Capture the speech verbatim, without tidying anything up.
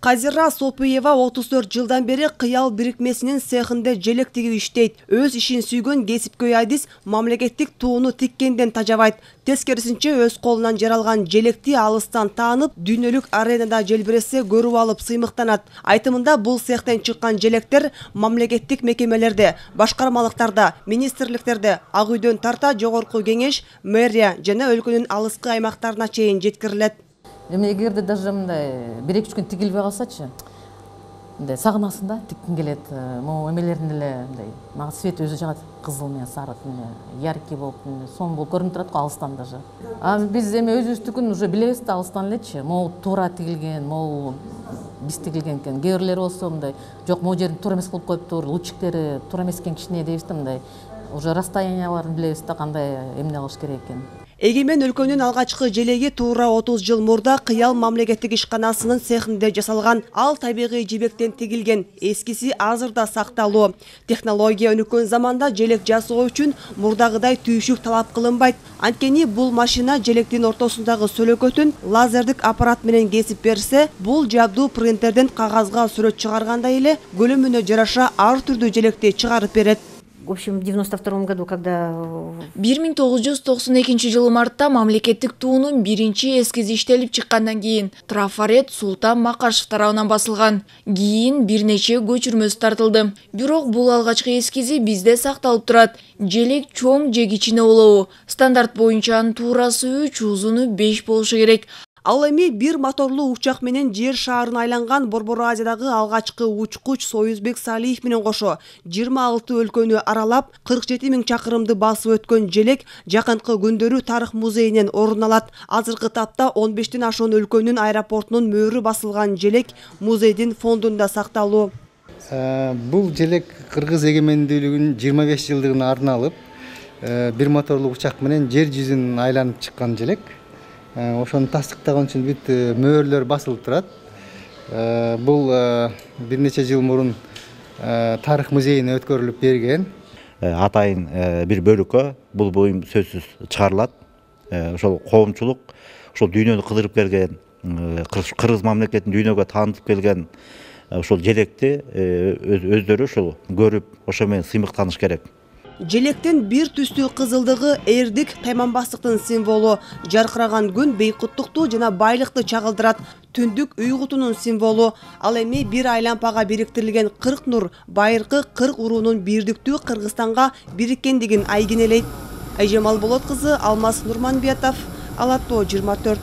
Казира Сопуева отуз төрт жылдан бери кыял бирикмесинин цехинде желек тигип иштейт. Өз ишин сүйгөн кесипкөй Айдис мамлекеттик тууну тиккенден тажабайт. Тескерисинче өз колунан жаралган желекти алыстан таанып, дүйнөлүк аренада желбиресе көрүп алып сыймыктанат. Айтымында бул цехтен чыккан желектер мамлекеттик мекемелерде, башкармалыктарда, министрликтерде, Ак үйдөн тарта жогорку кеңеш, мэрия жана өлкөнүн алыскы аймактарына чейин жеткирилет. Эми эгерде даже мындай бир эки үч күн тигилбей калсачы, мындай сагынасың да, тиккиң келет. Могу эмелердин эле мындай мага свет өзү жагат, кызыл менен сары, яркий болуп, сонун болуп көрүнүп турат го алыстан даже. А биз эми өзүбүздүкүн уже билебиз да алыстан элечи. Могу туура тигилген, могу биз тигилген экен. Кээ бирлери болсо мындай жок, могу жерин туура эмес кылып коюптур, лучиктери туура эмес экен кичине дейбиз да, мындай уже расстоянияларын билебиз да, кандай эмне кылыш керек экен. Эгемен өлкөнүн алгачкы желеги туура отуз жыл мурда Кыял мамлекеттик ишканасынын цехинде жасалган. Ал табигый жибектен тигилген, эскиси азырда сакталуу. Технология өнүккөн заманда желек жасоо үчүн мурдагыдай түйшүк талап кылынбайт. Анткени бул машина желектин ортосундагы сөлөкөтүн лазердик аппарат менен кесип берсе, бул жабдуу принтерден кагазга сүрөт чыгаргандай эле көлөмүнө жараша ар түрдүү желекти чыгарып берет. В общем, в девяносто втором году, когда... бир миң тогуз жүз токсон экинчи жылы мартта мамлекеттик туунун биринчи эскизи иштелип чыккандан кийин трафарет Султан Макашев тарабынан басылган. Кийин бир нече көчүрмөсү тартылды. Бирок бул алгачкы эскизи бизде сакталып турат. Желек чоң же кичине болобу? Стандарт боюнча анын туурасы үч, узуну беш болушу керек. Ал эми бир моторлуу учак менен жер шаарын айланган Борбор Азиядагы алгачкы учкуч Союзбек Салиев менен кошо жыйырма алты өлкөнү аралап, кырк жети миң чакырымды басып өткөн желек жакынкы күндөрү Тарых музейинен орун алат. Азыркы тапта он бештен ашуун өлкөнүн аэропортунун мөөрү басылган желек музейдин фондунда сакталуу. Бул желек Кыргыз эгемендүүлүгүнүн жыйырма беш жылдыгына арналып, бир моторлуу учак менен жер жүзүн айланып чыккан желек. Ошону тастыктаган үчүн бүт мөөрлөр басылып турат. Бул бир нече жыл мурун Тарых музейине өткөрүлүп берген. Атайын бир бөлүккө бул буюм сөзсүз чыгарылат. Ошол коомчулук, ошол дүйнөнү кыдырып келген, Кыргыз мамлекетин дүйнөгө таанытып келген ошол желекти өздөрү ошол көрүп, ошо менен сыймыктаныш керек. Желектин бир түстүү кызылдыгы эрдик, тайманбастыктын символу. Жаркыраган күн бейкуттукту жана байлыкты чагылдырат. Түндүк уйгутунун символу. Ал эми бир айлампага бириктирилген кырк нур байыркы кырк уруунун бирдиктүү Кыргызстанга бириккендигин айгинелейт. Айжамал Болот кызы, Алмаз Нурманбетов, Ала Тоо жыйырма төрт.